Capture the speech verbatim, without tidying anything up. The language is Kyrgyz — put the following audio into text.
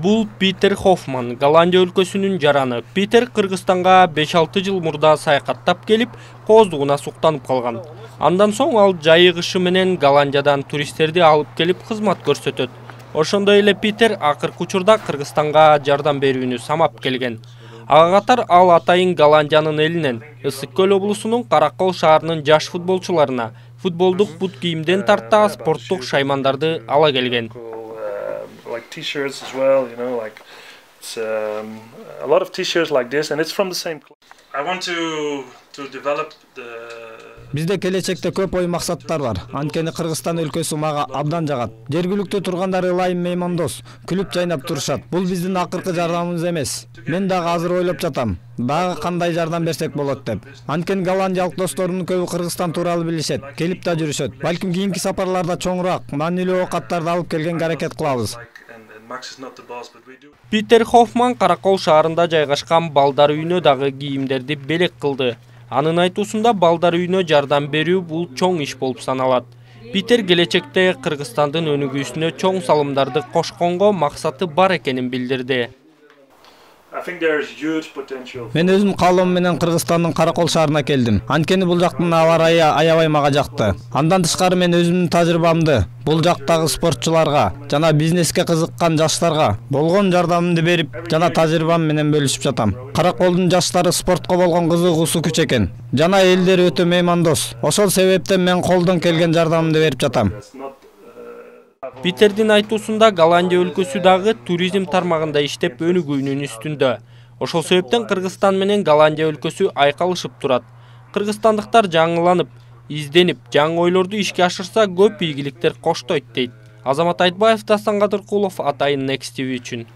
Бул Питер Хоффман, Голландия өлкөсүнүн жараны. Питер Кыргызстанга беш алты жыл мурда саякаттап келип, кооздугуна суктанып калган. Андан соң ал жайыгышы менен Голландиядан туристтерди алып келип кызмат көрсөтөт. Ошондой эле Питер акыркы учурда Кыргызстанга жардам берүүнү самап келген. Ага катар ал атайын Голландиянын элинен, Ысык көл облусунун Каракол шаарынын жаш футболчуларына футболдук бут кийимден тарта спорттук шаймандарды ала келген. Like t-shirts as well, you know, like it's um, a lot of t-shirts like this, and it's from the same club. I want to to develop the. Бизде келечекте көп ой максаттар бар. Анткени Кыргызстан өлкөсү мага абдан жагат. Жергиликтүү тургандар ылайым меймандос, күлүп жайнап турушат. Бул биздин акыркы жардамыбыз эмес. Мен дагы азыр ойлоп жатам. Дагы кандай жардам берсек болот деп. Анткени голландиялык досторумдун көбү Кыргызстан тууралуу билишет, келип да жүрүшөт. Балким кийинки сапарларда чоңураак, маанилүү оокаттарды алып келгенге аракет кылабыз. Питер Хоффман Каракол шаарында жайгашкан балдар үйүнө дагы кийимдерди белек кылды. Анын айтуусунда балдар үйүнө жардам берүү бул чоң иш болуп саналат. Питер келечекте Кыргызстандын өнүгүүсүнө чоң салымдарды кошконго максаты бар экенин билдирди. Мен өзүм каалоом менен Кыргызстандын Каракол шаарына келдим. Анткени бул жактын аба ырайы аябай мага жакты. Андан тышкары мен өзүмдүн тажрыйбамды бул жактагы спортчуларга жана бизнеске кызыккан жаштарга болгон жардамымды берип, жана тажрыйбам менен бөлүшүп жатам. Караколдун жаштары спортко болгон кызыгуусу күч экен. Жана элдери өтө меймандос. Ошол себептен мен колдон келген жардамымды берип жатам. Питердин айтуусунда Голландия өлкөсү дагы туризм тармагында иштеп өнүгүүнүн үстүндө. Ошол себептен Кыргызстан менен Голландия өлкөсү айкалышып турат. Кыргызстандыктар жаңыланып, изденип, жаңы ойлорду ишке ашырса көп ийгиликтер коштойт дейт. Азамат Айтбаев, Дастан Кадыркулов, Атайын Next ти ви үчүн.